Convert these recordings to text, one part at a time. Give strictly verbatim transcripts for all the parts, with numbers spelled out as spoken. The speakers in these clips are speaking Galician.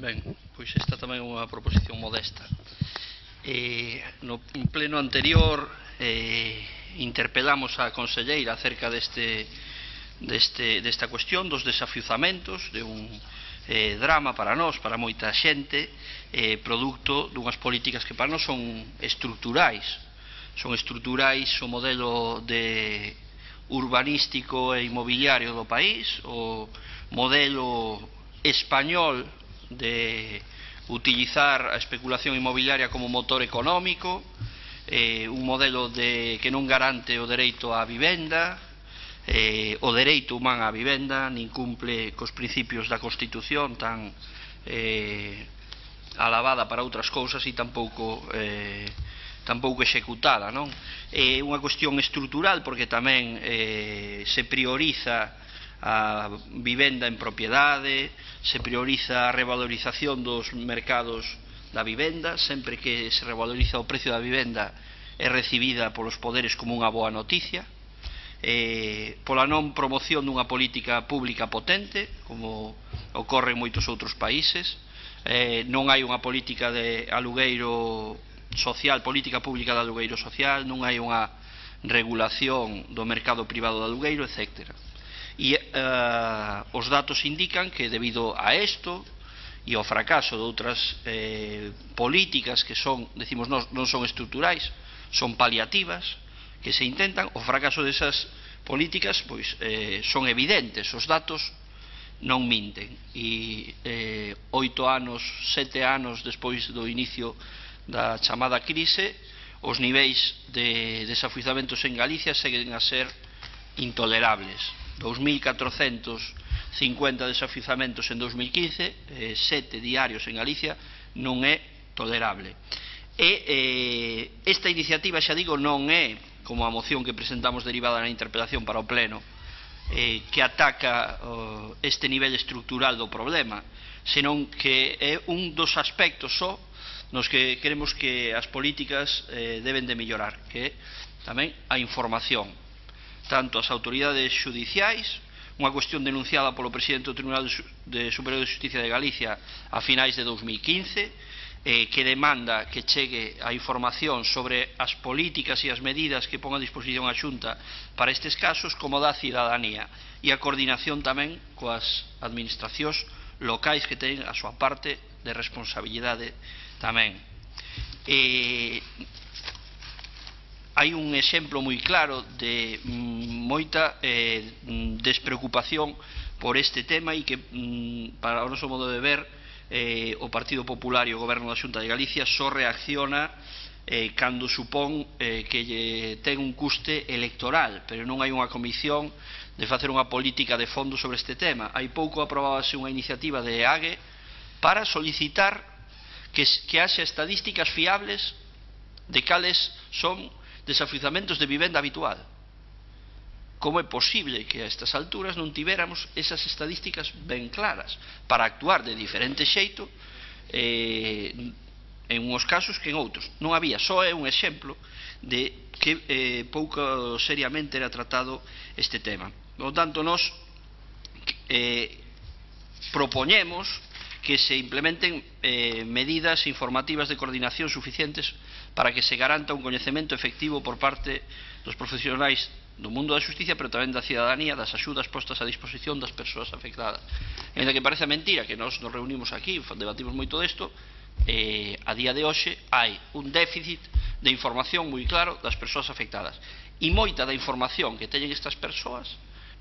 Ben, pois esta tamén é unha proposición modesta. Eh, no pleno anterior eh, interpelamos a conselleira acerca deste, deste, desta cuestión dos desafiuzamentos, de un eh, drama para nós, para moita xente, eh, producto dunhas políticas que para nós son estruturais. Son estruturais o modelo de urbanístico e inmobiliario do país, o modelo español de utilizar a especulación inmobiliaria como motor económico, eh, un modelo de, que non garante o dereito á vivenda, eh, o dereito humán á vivenda, nin cumple cos principios da Constitución tan eh, alabada para outras cousas e tampouco eh, tampouco executada, non? É unha cuestión estrutural porque tamén eh, se prioriza a vivenda en propiedade, se prioriza a revalorización dos mercados da vivenda, sempre que se revaloriza o precio da vivenda é recibida polos poderes como unha boa noticia, eh, pola non promoción dunha política pública potente, como ocorre en moitos outros países, eh, non hai unha política de alugueiro social, política pública de alugueiro social, non hai unha regulación do mercado privado de alugueiro, etcétera. E uh, os datos indican que debido a isto e ao fracaso de outras eh, políticas que son, decimos nós, non son estruturais, son paliativas, que se intentan, o fracaso desas políticas pois eh, son evidentes, os datos non minten. E eh, oito anos, sete anos despois do inicio da chamada crise, os niveis de desafiuzamentos en Galicia seguen a ser intolerables. dos mil catrocentos cincuenta desafiuzamentos en dos mil quince, eh, sete diarios en Galicia, non é tolerable. E eh, esta iniciativa, xa digo, non é como a moción que presentamos derivada na interpelación para o Pleno, eh, que ataca oh, este nivel estrutural do problema, senón que é un dos aspectos só nos que queremos que as políticas eh, deben de mellorar, que é tamén a información. Tanto as autoridades xudiciais, unha cuestión denunciada polo presidente do Tribunal de Superior de Justicia de Galicia a finais de dos mil quince, eh, que demanda que chegue a información sobre as políticas e as medidas que pon a disposición a Xunta para estes casos, como da cidadanía, e a coordinación tamén coas administracións locais que teñen a súa parte de responsabilidade tamén. E hai un exemplo moi claro de mm, moita eh, despreocupación por este tema e que, mm, para o noso modo de ver, eh, o Partido Popular e o Goberno da Xunta de Galicia só reacciona eh, cando supón eh, que lle ten un custe electoral, pero non hai unha comisión de facer unha política de fondo sobre este tema. Hai pouco aprobábase unha iniciativa de A G E para solicitar que, que haxa estadísticas fiables de cales son desafiuzamentos de vivenda habitual. Como é posible que a estas alturas non tivéramos esas estadísticas ben claras para actuar de diferente xeito eh, en uns casos que en outros? Non había, só é un exemplo de que eh, pouco seriamente era tratado este tema. Por lo tanto, nós eh, propoñemos que se implementen eh, medidas informativas de coordinación suficientes para que se garanta un coñecemento efectivo por parte dos profesionais do mundo da xusticia, pero tamén da cidadanía, das axudas postas a disposición das persoas afectadas. En que parece mentira que nós nos reunimos aquí, debatimos moito desto, eh, a día de hoxe hai un déficit de información moi claro das persoas afectadas. E moita da información que teñen estas persoas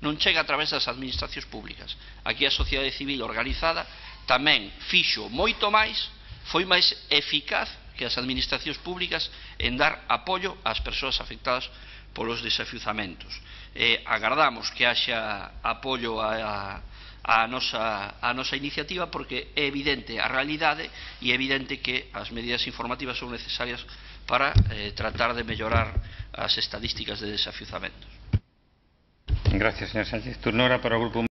non chega a través das administracións públicas. Aquí a sociedade civil organizada tamén fixo moito máis, foi máis eficaz que as administracións públicas en dar apoio ás persoas afectadas polos desafiuzamentos. Eh, agardamos que haxa apoio a, a, a, nosa, a nosa iniciativa porque é evidente a realidade e é evidente que as medidas informativas son necesarias para eh, tratar de mellorar as estadísticas de desafiuzamentos. Gracias, señor Sánchez. Turno ahora para o grupo